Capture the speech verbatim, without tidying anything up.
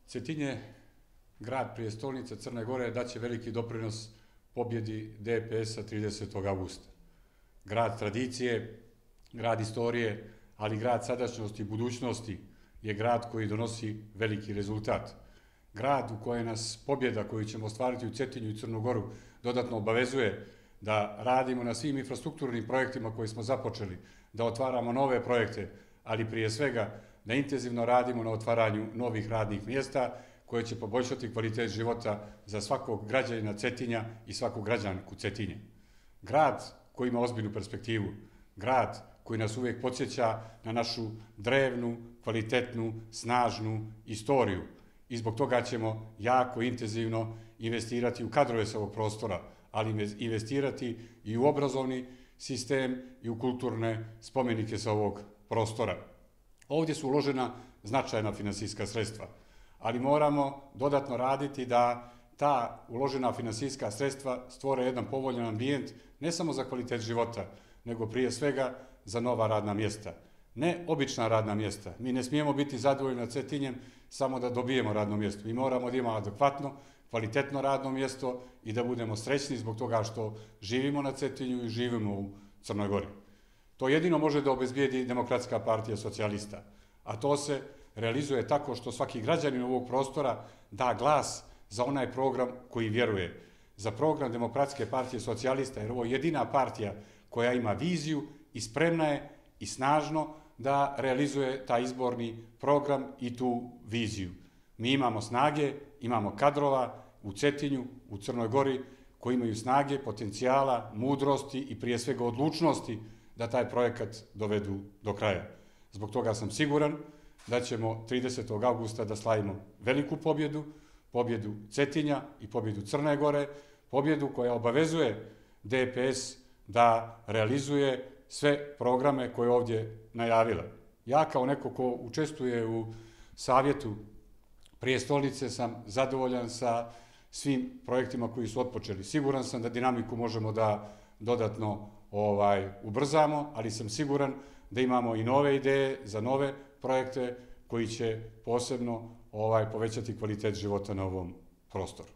Cetinje, grad prijestolnice Crne Gore, daće veliki doprinos pobjedi D P S-a tridesetog avgusta. Grad tradicije, grad istorije, ali grad sadašnjosti i budućnosti je grad koji donosi veliki rezultat. Grad u kojem nas pobjeda koju ćemo ostvariti u Cetinju i Crnu Goru dodatno obavezuje da radimo na svim infrastrukturnim projektima koje smo započeli, da otvaramo nove projekte, ali prije svega da intenzivno radimo na otvaranju novih radnih mjesta koje će poboljšati kvalitet života za svakog građanina Cetinja i svakog građanku Cetinje. Grad koji ima ozbiljnu perspektivu, grad koji nas uvijek podsjeća na našu drevnu, kvalitetnu, snažnu istoriju. I zbog toga ćemo jako intenzivno investirati u kadrove sa ovog prostora, ali investirati i u obrazovni sistem i u kulturne spomenike sa ovog prostora. Ovdje su uložena značajna finansijska sredstva, ali moramo dodatno raditi da ta uložena finansijska sredstva stvore jedan povoljan ambijent ne samo za kvalitet života, nego prije svega za nova radna mjesta. Ne obična radna mjesta. Mi ne smijemo biti zadovoljni nad Cetinjem samo da dobijemo radno mjesto. Mi moramo da imamo adekvatno, kvalitetno radno mjesto i da budemo srećni zbog toga što živimo na Cetinju i živimo u Crnoj Gori. To jedino može da obezbijedi Demokratska partija socijalista, a to se realizuje tako što svaki građanin ovog prostora da glas za onaj program koji vjeruje, za program Demokratske partije socijalista, jer ovo je jedina partija koja ima viziju i spremna je i snažno da realizuje taj izborni program i tu viziju. Mi imamo snage, imamo kadrova u Cetinju, u Crnoj Gori, koji imaju snage, potencijala, mudrosti i prije svega odlučnosti da taj projekat dovedu do kraja. Zbog toga sam siguran da ćemo tridesetog avgusta da slavimo veliku pobjedu, pobjedu Cetinja i pobjedu Crne Gore, pobjedu koja obavezuje D P S da realizuje sve programe koje je ovdje najavila. Ja kao neko ko učestvuje u savjetu prijestolnice sam zadovoljan sa svim projektima koji su otpočeli. Siguran sam da dinamiku možemo da dodatno ovaj, ubrzamo, ali sam siguran da imamo i nove ideje za nove projekte koji će posebno ovaj, povećati kvalitet života na ovom prostoru.